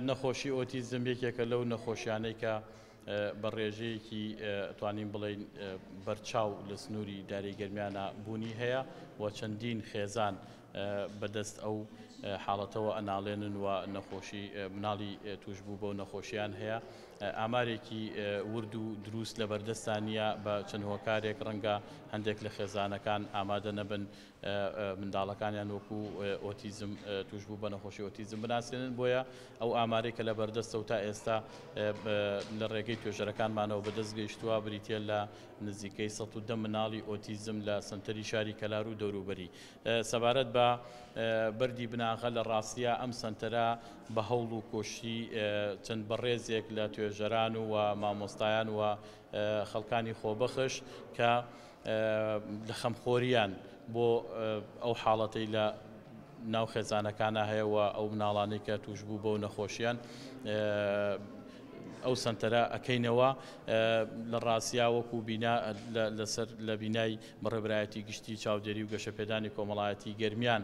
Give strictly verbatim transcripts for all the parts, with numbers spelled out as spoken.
نەخۆشی ئۆتیزم یەکێکە لەو نەخۆشیانەی کە بە ڕێژەیەکی توانین بڵێین بەرچاو لە سنووری داری گەرمیانە بوونی هەیە و چەندین خێزان بەدەست ئەو حاڵەتەوە ئەناڵێنن و نەخۆشی مناڵی توشبوو بەو نەخۆشیان هەیە. ئامارێکی ورد و دروست لە بەردەستان نییە، بە چەند هۆکارێک ڕەنگە هەندێک لە خێزانەکان ئامادە نەبن منداڵەکانیان وەکو ئۆتیزم توشبوو بە نەخۆشی ئۆتیزم بناسێنن، بۆیە ئەو ئامارێک کە لە بەردەستە و تا ئێستا لە ڕێگەی توێژەرەکانمانەوە بەدەست گەیشتووە بریتیە لە نزیکەی سەد و دە مناڵی ئۆتیزم لە سەنتەری شاری کەلار و دەوروبەری. سەبارەت بە بەردی بناغە لە ڕاستیە ئەم سەنتەرە بە هەوڵ و کۆشی چەند بەڕێزێک لە توێژەران و مامۆستایان و خەڵکانی خۆبەخش کە لە خەمخۆریان بۆ ئەو حاڵەتەی لە ناو خێزانەکانە هەیە و ئەو مناڵانەی کە توش بوو بەو نەخۆشیان ئەو سەنتەرە ئەکەینەوە. لە ڕاستیا وەکو بینا لەسەر لە بینای بەڕێوەبەرایەتی گشتی چاودێری و گەشەپێدانی کۆمەڵایەتی گەرمیان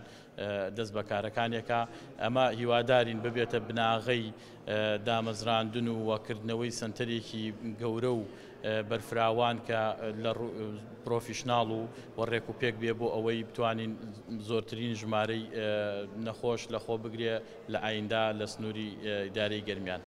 دەست بەکارەکانێکە. ئەمە هیوادارین ببێتە بناغەی دامەزراندن و وەکردنەوەی سەنتەرێکی گەورە و بەرفراوان کە لە پرۆفیشناڵ و ڕێک و پێک بێ بۆ ئەوەی بتوانین زۆرترین ژمارەی نەخۆش لە خۆ بگرێ لە ئایندا لە سنووری ئیدارەی گەرمیان.